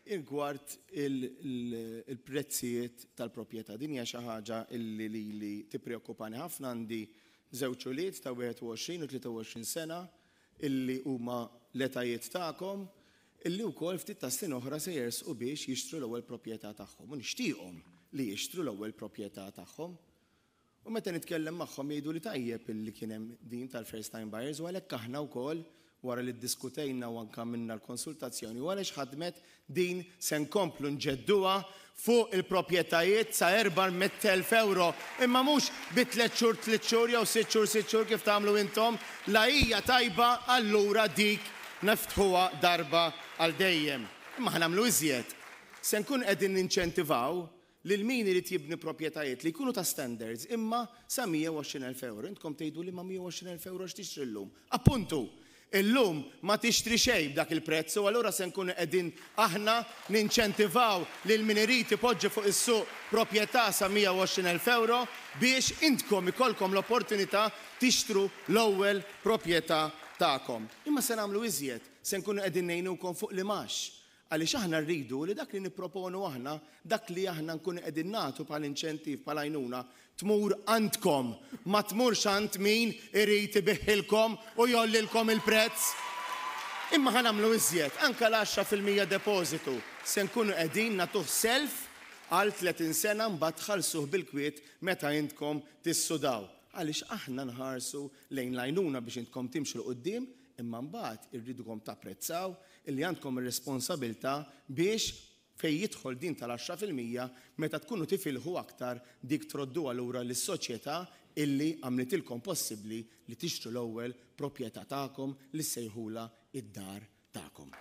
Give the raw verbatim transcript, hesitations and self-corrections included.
Rigward il-prezzijiet tal-proprjetà, din hija xi ħaġa illi lili tippreokkupani ħafna. Għandi żewġ ulied ta' wieħed u għoxrin u tlieta u għoxrin sena illi huma l-etajiet tagħkom, illi wkoll ftit ta' snin oħra se jersqu biex jixtru l-ewwel proprjetà tagħhom. U nixtieqhom li jixtru l-ewwel proprjetà tagħhom. U meta nitkellem magħhom jgħidu li tajjeb illi kien hemm din tal-first time buyers, u għalhekk aħna wkoll, wara li ddiskutejna u anka minna l-konsultazzjoni u għaliex ħadmet din, se nkomplu nġedduha fuq il-proprjetajiet sa erba' mitt elf euro, imma mhux bi tliet xhur tliet xhur jew sitt xhur sitt xhur kif tagħmlu intom. La hija tajba, allura dik neftħuha darba għal dejjem. Imma ħa nagħmlu iżjed. Se nkun qegħdin ninċentivaw lil min irid jibni proprjetajiet li jkunu ta' standards, imma sa mija u għoxrin elf euro. Intkom tgħidu li ma' mija u għoxrin elf euro x'tixtri llum? Appuntu, illum ma tixtri xejn b'dak il-prezz, u allura se nkunu qegħdin aħna ninċentivaw lil min irid ipoġġi fuq is-suq proprjetà sa mija u għoxrin elf euro biex intkom ikollkom l-opportunità tixtru l-ewwel proprjetà tagħkom. Imma se nagħmlu iżjed, se nkunu qegħdin ngħinukom fuq l-imgħax. Għaliex aħna rridu li dak li nipproponu aħna, dak li aħna nkunu qegħdin nagħtu bħal inċentiv, bħal għajnuna, tmur għandkom, ma tmurx għand min irid ibigħilkom u jgħollilkom il-prezz. Imma ħa nagħmlu iżjed, anka l-għaxra fil-mija depożitu se nkunu qegħdin nagħtuh self għal tletin sena, mbagħad tħallsuh bil-kwiet meta intkom tissudaw. Għaliex aħna nħarsu lejn l-għajnuna biex intkom timxu 'l quddiem, imma mbagħad irridukom tapprezzaw illi għandkom ir-responsabilità biex fej jidħol din tal-għaxra fil-mija, meta tkunu tifilħu aktar, dik troddu allura lis-soċjetà illi għamlitilkom possibbli li tixtru l-ewwel proprjetà tagħkom li sejħula id-dar tagħkom.